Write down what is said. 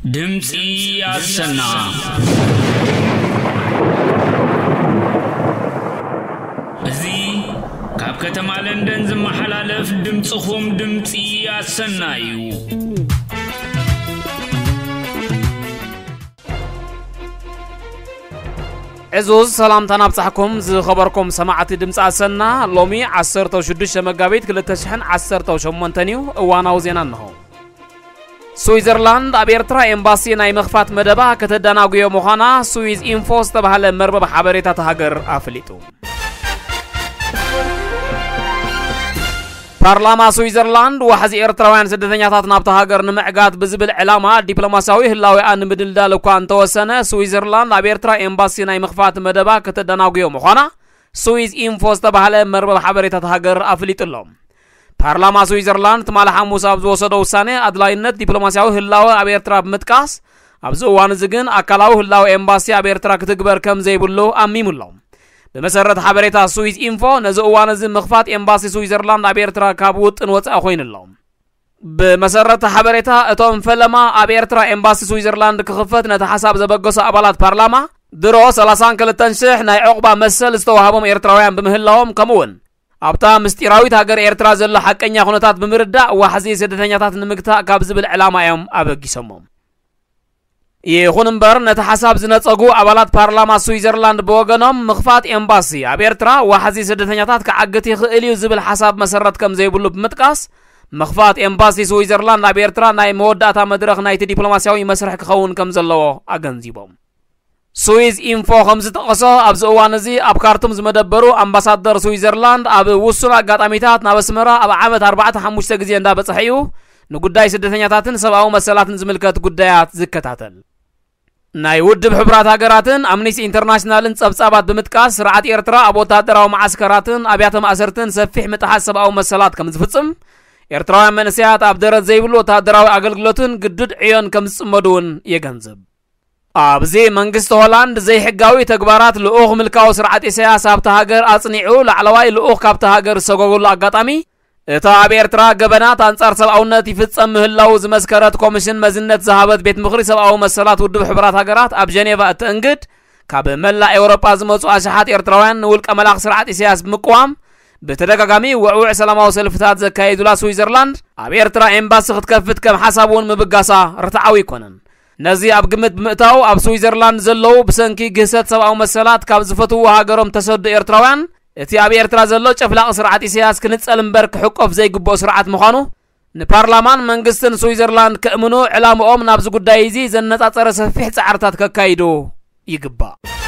ድምፂ ኣሰና። እዚ ካብ ከተማ ለንደን ዝመሓላለፍ ድምፅኹም ድምፂ ኣሰና እዩ። ዕዙዝ ሰላምታ ናብጻሕኩም ዝኸበርኩም ሰማዕቲ ድምፂ ኣሰና። ሎሚ ዓሰርተ ሽዱሽተ መጋቢት ክልተ ሽሕን ዓሰርተ ሸሞንተን እዩ። እዋናዊ ዜና እንሆ። ስዊዘርላንድ ኣብ ኤርትራ ኤምባሲ ናይ ምኽፋት መደባ ከተደናጉዮ ምዃና ስዊዝ ኢንፎ ዝተባህለ መርበብ ሓበሬታ እታ ሃገር ኣፍሊጡ። ፓርላማ ስዊዘርላንድ ዋሕዚ ኤርትራውያን ስደተኛታት ናብታ ሃገር ንምዕጋት ብዝብል ዕላማ ዲፕሎማሲያዊ ህላዌኣ ንምድልዳል እኳ እንተወሰነ፣ ስዊዘርላንድ ኣብ ኤርትራ ኤምባሲ ናይ ምኽፋት መደባ ከተደናጉዮ ምዃና ስዊዝ ኢንፎ ዝተባህለ መርበብ ሓበሬታ እታ ሃገር ኣፍሊጡ ኣሎ። ፓርላማ ስዊዘርላንድ ትማሊ ሓሙስ ኣብ ዝወሰዶ ውሳነ ኣድላይነት ዲፕሎማሲያዊ ህላወ ኣብ ኤርትራ ብምጥቃስ፣ ኣብዚ እዋን እዚ ግን ኣካላዊ ህላወ ኤምባሲ ኣብ ኤርትራ ክትግበር ከም ዘይብሉ ኣሚሙ ኣሎ። ብመሰረት ሓበሬታ ስዊዝ ኢንፎ፣ ነዚ እዋን እዚ ምኽፋት ኤምባሲ ስዊዘርላንድ ኣብ ኤርትራ ካብ ውጥን ወጻኢ ኮይኑ ኣሎ። ብመሰረት ሓበሬታ፣ እቶም ፈለማ ኣብ ኤርትራ ኤምባሲ ስዊዘርላንድ ክኽፈት ነቲ ሓሳብ ዘበገሱ ኣባላት ፓርላማ፣ ድሮ ሰላሳን ክልተን ሽሕ ናይ ዕቑባ መሰል ዝተዋህቦም ኤርትራውያን ብምህላዎም፣ ከምኡውን ኣብታ ምስጢራዊት ሃገር ኤርትራ ዘሎ ሓቀኛ ኩነታት ብምርዳእ ዋሕዚ ስደተኛታት ንምግታእ ካብ ዝብል ዕላማ እዮም ኣበጊሶሞም። ይኹን እምበር፣ ነቲ ሓሳብ ዝነጸጉ ኣባላት ፓርላማ ስዊዘርላንድ ብወገኖም፣ ምኽፋት ኤምባሲ ኣብ ኤርትራ ዋሕዚ ስደተኛታት ክዓግት ይኽእል እዩ ዝብል ሓሳብ መሰረት ከም ዘይብሉ ብምጥቃስ፣ ምኽፋት ኤምባሲ ስዊዘርላንድ ኣብ ኤርትራ ናይ መወዳእታ መድረኽ ናይቲ ዲፕሎማሲያዊ መስርሕ ክኸውን ከም ዘለዎ ኣገንዚቦም። ስዊዝ ኢንፎ ከም ዝጠቐሶ፣ ኣብዚ እዋን እዚ ኣብ ካርቱም ዝመደበሩ ኣምባሳደር ስዊዘርላንድ ኣብ ውሱን ኣጋጣሚታት ናብ ኣስመራ ኣብ ዓመት ኣርባዕተ ሓሙሽተ ግዜ እንዳበጽሐ እዩ ንጉዳይ ስደተኛታትን ሰብኣዊ መሰላትን ዝምልከት ጉዳያት ዝከታተል። ናይ ውድብ ሕቡራት ሃገራትን ኣምኒስቲ ኢንተርናሽናልን ጸብጻባት ብምጥቃስ፣ ስርዓት ኤርትራ ኣብ ወታደራዊ መዓስከራትን ኣብያተ ማእሰርትን ሰፊሕ ምጥሓስ ሰብኣዊ መሰላት ከም ዝፍጽም፣ ኤርትራውያን መንእሰያት ኣብ ደረት ዘይብሉ ወታደራዊ ኣገልግሎትን ግዱድ ዕዮን ከም ዝጽመዱ እውን የገንዝብ። ኣብዚ መንግስቲ ሆላንድ ዘይሕጋዊ ተግባራት ልኡኽ ምልካዊ ስርዓት ኢሳያስ ኣብታ ሃገር ኣጽኒዑ፣ ላዕለዋይ ልኡኽ ካብታ ሃገር ዝሰጎገሉ ኣጋጣሚ፣ እታ ኣብ ኤርትራ ገበናት ኣንጻር ሰብኣውነት ይፍጸም ምህላው ዝመስከረት ኮሚሽን መዝነት ዝሃበት ቤት ምኽሪ ሰብኣዊ መሰላት ውድብ ሕቡራት ሃገራት ኣብ ጀኔቫ እትእንግድ፣ ካብ መላእ ኤውሮጳ ዝመጹ ኣሽሓት ኤርትራውያን ንውልቀ መላኽ ስርዓት ኢሳያስ ብምቅዋም ብተደጋጋሚ ውዕውዕ ሰላማዊ ሰልፍታት ዘካየዱላ ስዊዘርላንድ፣ ኣብ ኤርትራ ኤምባሲ ክትከፍት ከም ሓሳብ እውን ምብጋሳ ርትዓዊ ኣይኮነን። ነዚ ኣብ ግምት ብምእታው፣ ኣብ ስዊዘርላንድ ዘለዉ ብሰንኪ ግህሰት ሰብኣዊ መሰላት ካብ ዝፈትውዎ ሃገሮም ተሰዱ ኤርትራውያን፣ እቲ ኣብ ኤርትራ ዘሎ ጨፍላቒ ስርዓት ኢሳያስ ክንጸል እምበር ክሕቆፍ ዘይግብኦ ስርዓት ምዃኑ ንፓርላማን መንግስትን ስዊዘርላንድ ከእምኑ፣ ዕላምኦም ናብዚ ጉዳይ እዚ ዘነጻጸረ ሰፊሕ ጻዕርታት ከካይዱ ይግባእ።